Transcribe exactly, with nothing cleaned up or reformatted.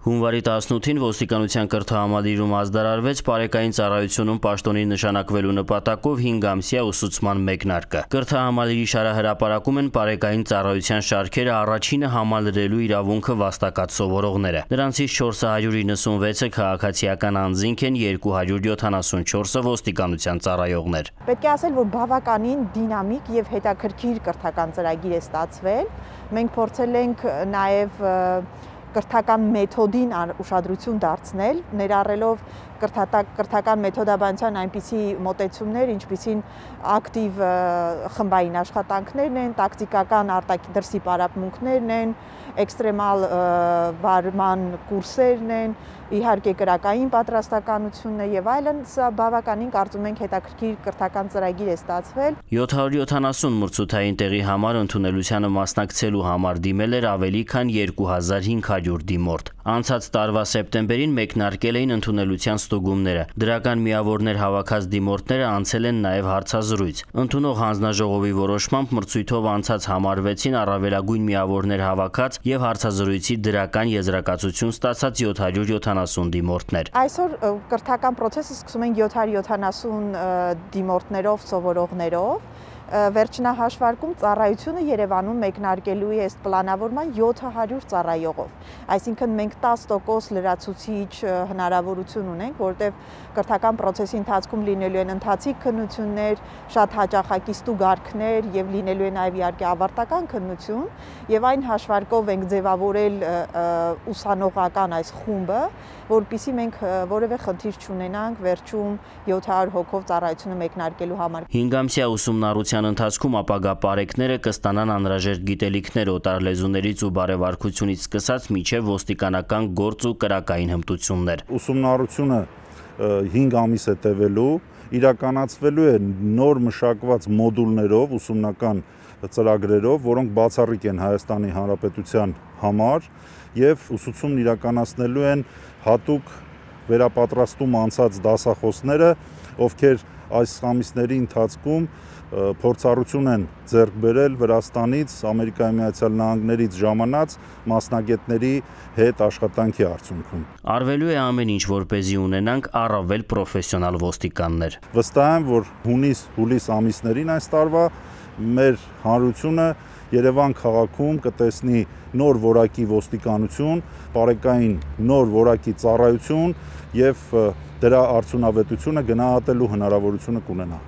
Հունվարի տասնութին ոստիկանության կրթահամալիրում ազդարարվեց պարեկային ծառայությունում պաշտոնի նշանակվելու նպատակով հինգ ամսյա ուսուցման մեկնարկը։ Կրթահամալիրի շարահրապարակում են պարեկային ծառայության շարքերը առաջինը համալրելու իրավունքը վաստակած սովորողները։ Նրանցից չորս հարյուր իննսունվեցը քաղաքացիական անձինք են, երկու հարյուր յոթանասունչորսը ոստիկանության ծառայողներ։ Պետք է ասել, որ բավականին դինամիկ եւ հետաքրքիր կրթական ծրագիր է ստացվել։ Մենք փորձել ենք նաեւ կրթական մեթոդին ուշադրություն դարձնել, ներառելով կրթական մեթոդաբանության այնպիսի մոտեցումներ, ինչպիսին ակտիվ խմբային աշխատանքներն են, տակտիկական արտադրսի պարապմունքներն են, էքստրեմալ վարման կուրսերն են, իհարկե կրակային պատրաստականությունն է եւ այլն, սա բավականին կարծում ենք հետաքրքիր կրթական ծրագիր է ստացվել։ յոթ հարյուր յոթանասուն մրցութային տեղի համար ընդունելությանը մասնակցելու համար դիմել էր ավելի քան երկու հազար հինգ հարյուր դիմորդ։ Անցած տարվա սեպտեմբերին մեկնարկել էին ընդունելության ստուգումները։ Դրական միավորներ հավաքած դիմորդները անցել են նաև հարցազրույց։ Ընդունող հանձնաժողովի որոշմամբ մրցույթով անցած համարվեցին առավելագույն միավորներ հավաքած եւ հարցազրույցի դրական եզրակացություն ստացած յոթ հարյուր յոթանասուն դիմորդներ։ Այսօր կրթական process-ը սկսում ենք յոթ հարյուր յոթանասուն դիմորդներով, սովորողներով։ Վերջնահաշվարկում ծառայությունը Երևանում մեկնարկելու է ըստ պլանավորման յոթ հարյուր ծառայողով։ Այսինքն մենք տասը տոկոս լրացուցիչ հնարավորություն ունենք, որտեղ կրթական process-ի ընթացքում լինելու են ընթացիկ քննություններ, շատ հաճախակի ստուգարքներ եւ լինելու է նաեւ իհարկե ավարտական քննություն, եւ այն հաշվարկով ենք ձևավորել ուսանողական այս խումբը, որպեսզի մենք որևէ խնդիր չունենանք վերջում յոթ հարյուր հոգով ծառայությունը մեկնարկելու համար։ հինգ ամսյա ուսումնառության ընթացքում ապագա պարեկները կստանան անհրաժեշտ գիտելիքներ օտար լեզուներից ու բարեվարքությունից սկսած մինչև ոստիկանական գործ ու կրակային հմտություններ։ Ուսումնառությունը հինգ ամիս է տևելու, իրականացվելու է նոր մշակված մոդուլներով, ուսումնական ծրագրերով, որոնք բացառիկ են Հայաստանի Հանրապետության համար եւ ուսուցումն իրականացնելու են հատուկ վերապատրաստում անցած դասախոսները, ովքեր այս ամիսների ընթացքում փորձառություն են ձեռք բերել Վրաստանից, Ամերիկայի Միացյալ Նահանգներից ժամանած մասնագետների հետ աշխատանքի արդյունքում։ Արվելու է ամեն ինչ, որպեսզի ունենանք առավել պրոֆեսիոնալ ոստիկաններ։ Վստահ եմ, որ հունիս-հուլիս ամիսներին այս տարվա մեր հանրությունը Երևան քաղաքում կտեսնի նոր որակի ոստիկանություն, պարեկային նոր որակի ծառայություն եւ դրա արդյունավետությունը գնահատելու հնարավորությունը կունենա։